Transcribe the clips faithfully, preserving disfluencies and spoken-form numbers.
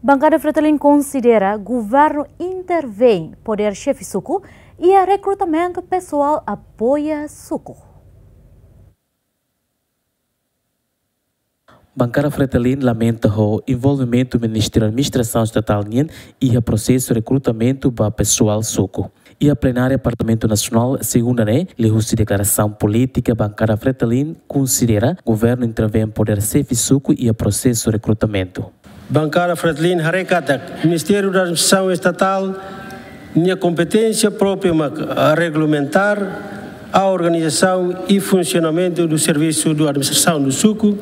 Bankada Fretilin konsidera governu intervein podér xefe suku iha rekrutamentu pesoál apoia suku. Bankada Fretilin lamenta ho envolvimentu Ministériu Administrasaun Estatál nian iha prosesu rekrutamentu ba pesoál suku. Iha plenária Parlamentu Nasionál, segunda ne'e, liuhusi deklarasaun polítika, Bankada Fretilin konsidera governu intervein podér xefe suku iha prosesu rekrutamentu. Bankada Fretilin haree katak Ministériu da Administrasaun Estatál nia kompeténsia própria mak regulamentar a organização e funcionamento do serviço do administração do suku,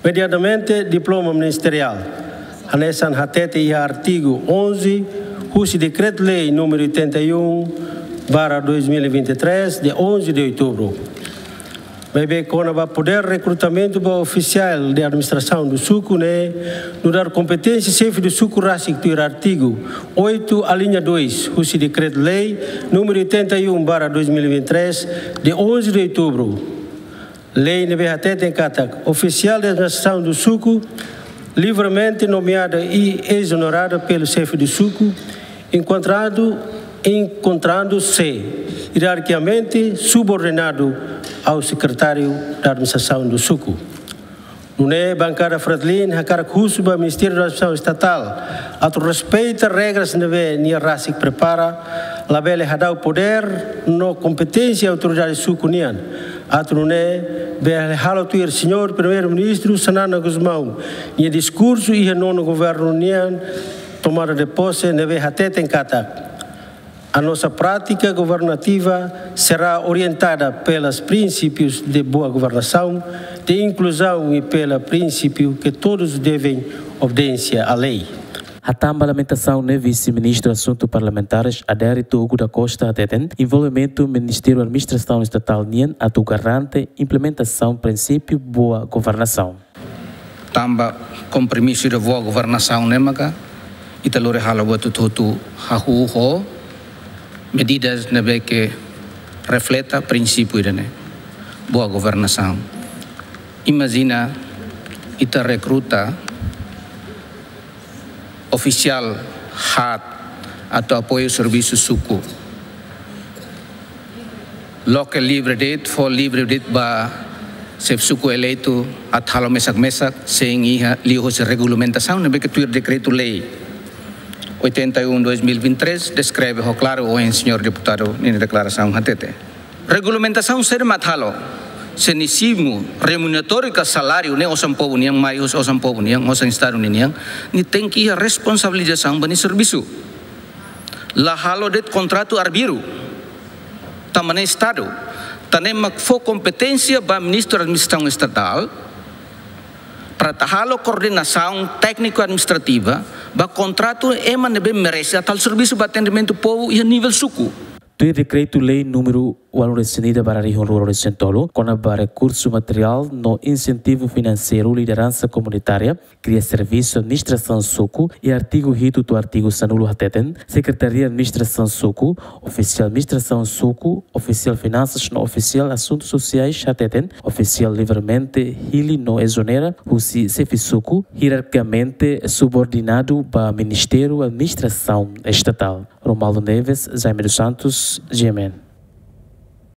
mediadamente diploma ministerial. Hanesan hatete iha artigu onze, husi Dekretu-Lei númeru oitenta e um barra dois mil e vinte e três, de onze de outubro. Maibé kona-ba podér rekrutamentu ba ofisiál de administrasaun do suku ne'e, nu'udar kompeténsia xefe do suku rasik tuir artigu oito, alínea dois, husi Dekretu-Lei númeru oitenta e um barra dois mil e vinte e três, de onze de outubro. Lei ne'ebé hateten katak ofisiál de administrasaun do suku livremente nomeada e exonerada pelo xefe do suku, enquadrado, encontrando-se hierarquicamente subordinado ao secretário da administração do suku. Nune'e, Bankada Fretilin hakarak husu ba Ministériu da Administrasaun Estatál atu respeita regras ne'ebé nia rasik prepara, labele hadau podér no kompeténsia autoridade suku nian. Atu nune'e bele halo tuir Señór Primeiru-Ministru Xanana Gusmão nia diskursu iha nonu governu nian tomada de pose ne'ebé hateten katak: A nossa prática governativa será orientada pelos princípios de boa governação, de inclusão e pelo princípio que todos devem obediência à lei. Hatán ba lamentasaun ne'e, Vise-Ministru Asuntu Parlamentares, Adérito Hugo da Costa, hateten envolvimentu Ministériu Administrasaun Estatál nian atu garante implementasaun prinsípiu boa governasaun. Tanba kompromisu ida boa governasaun ne'e maka ita lori halo buat hotu-hotu hahú ho medidas ne'ebé ke refleta prinsípiu ida-ne'e, boa governasaun. Imajina ita rekruta ofisiál haat atu apoiu servisu suku. Loke livre de'it, fó livre de'it ba xefe suku eleitu atu halo mesak-mesak, sein iha liuhosi regulamentasaun ne'ebé ke tuir Dekretu-Lei oitenta e um dois mil e vinte e três deskreve ho klaru ohin señór deputadu ninia deklarasaun hatete. Regulamentasaun saida mak atu halo? Se nia simu remuneratóriu ka saláriu ne'e osan povu nian, mai husi osan povu nian, osan Estadu ninian, nia tenke iha responsabilizasaun ba nia servisu. La halo de'it kontratu arbiru. Tanba ne'e Estadu, tan ne'e mak fó kompeténsia ba Ministru Administrasaun Estatál para atu halo koordenasaun tékniku administrativa ba kontratu ema ne'ebé merese atu halo servisu ba atendimentu povu iha nivel suku. Tuir Dekretu-Lei númeru ualu resin ida barra rihun rua resin tolu, kona-ba rekursu materiál no insentivu finanseiru lideransa komunitária kria servisu administrasaun suku, iha artigu hitu to'o artigu sanulu hateten, Sekretaria Administrasaun Suku, ofisiál administrasaun suku, ofisiál finansas no ofisiál asuntu sosiais hateten, ofisiál livremente hili no ezonera husi xefe suku, hierarkikamente subordinadu ba Ministériu Administrasaun Estatál. Romualdo Neves, Jaime dos Santos, G M N.